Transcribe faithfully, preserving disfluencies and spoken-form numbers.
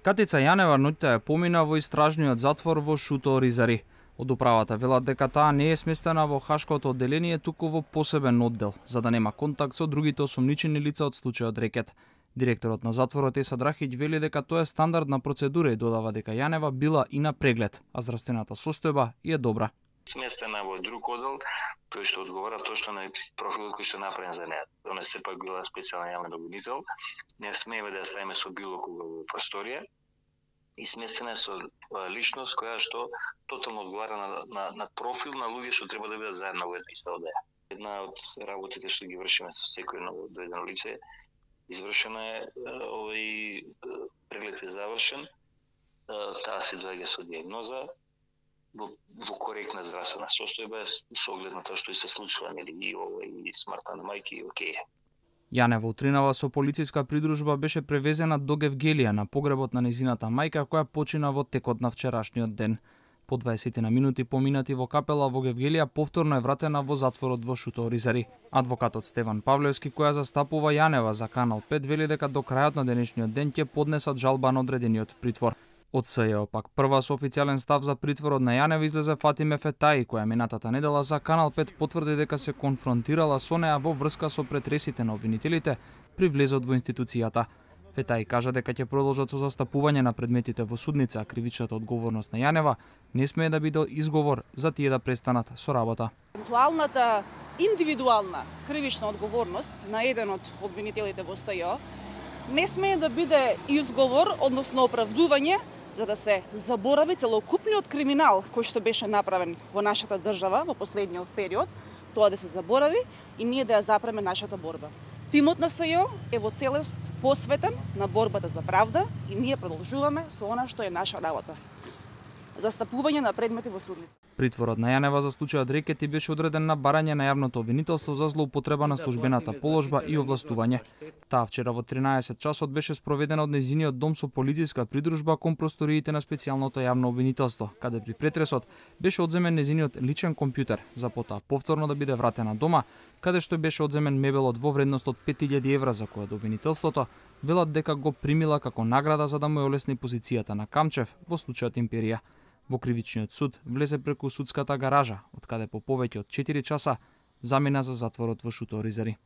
Катица Јанева ноќта ја помина во истражниот затвор во Шуто Оризари. Од управата велат дека таа не е сместена во Хашкото одделение, туку во посебен оддел, за да нема контакт со другите осомничени лица од случајот Рекет. Директорот на затворот Еса Драхиќ вели дека тоа е стандардна процедура и додава дека Јанева била и на преглед, а здравствената состојба и е добра. Сместена во друг оддел, тој што одговара точно на профилот кој што направен за неа. Она сепак била специјален јавен обвинител, не смееме да ја ставиме со било кога во просторија и сместена е со личност која што тотално одговара на, на, на профил на луѓе што треба да бидат заедно во една иста одеја. Една од работите што ги вршиме со секој ново дојдено лице, извршена е, овој преглед е завршен, таа се доаѓа со дијагноза, во, во коректна здравствена состојба со оглед на тоа што и се случува, нели, и ова и смртта на мајки, окей. Јанева утринава со полициска придружба беше превезена до Гевгелија на погребот на незината мајка која почина во текот на вчерашниот ден. По дваесет на минути поминати во капела во Гевгелија повторно е вратена во затворот во Шуто Оризари. Адвокатот Стеван Павлевски, која застапува Јанева за Канал пет, вели дека до крајот на денешниот ден ќе поднесат жалба на одредениот притвор. Од СЈО пак прва со официјален став за притворот на Јанева излезе Фатиме Фетаи, која минатата недела за Канал пет потврди дека се конфронтирала со неа во врска со претресите на обвинителите при влезот во институцијата. Фетаи кажа дека ќе продолжат со застапување на предметите во судница, а кривичната одговорност на Јанева не смее да биде изговор за тие да престанат со работа. Евентуалната индивидуална кривична одговорност на еден од обвинителите во СЈО не смее да биде изговор, односно оправдување за да се заборави целокупниот криминал кој што беше направен во нашата држава во последниот период, тоа да се заборави и ние да ја запреме нашата борба. Тимот на СЈО е во целост посветен на борбата за правда и ние продолжуваме со она што е наша работа. Застапување на предмети во судница. Притворот на Јанева за случајот Рекети беше одреден на барање на јавното обвинителство за злоупотреба на службената положба и овластување. Таа вчера во тринаесет часот беше спроведена од нејзиниот дом со полициска придружба кон просториите на специјалното јавно обвинителство, каде при претресот беше одземен нејзиниот личен компјутер, за потоа повторно да биде вратена дома, каде што беше одземен мебелот во вредност од пет илјади евра, за која обвинителството велат дека го примила како награда за да му ја олесни позицијата на Камчев во случајот Империја. Во кривичниот суд влезе преку судската гаража, од каде по повеќе од четири часа замина за затворот во Шуто Оризари.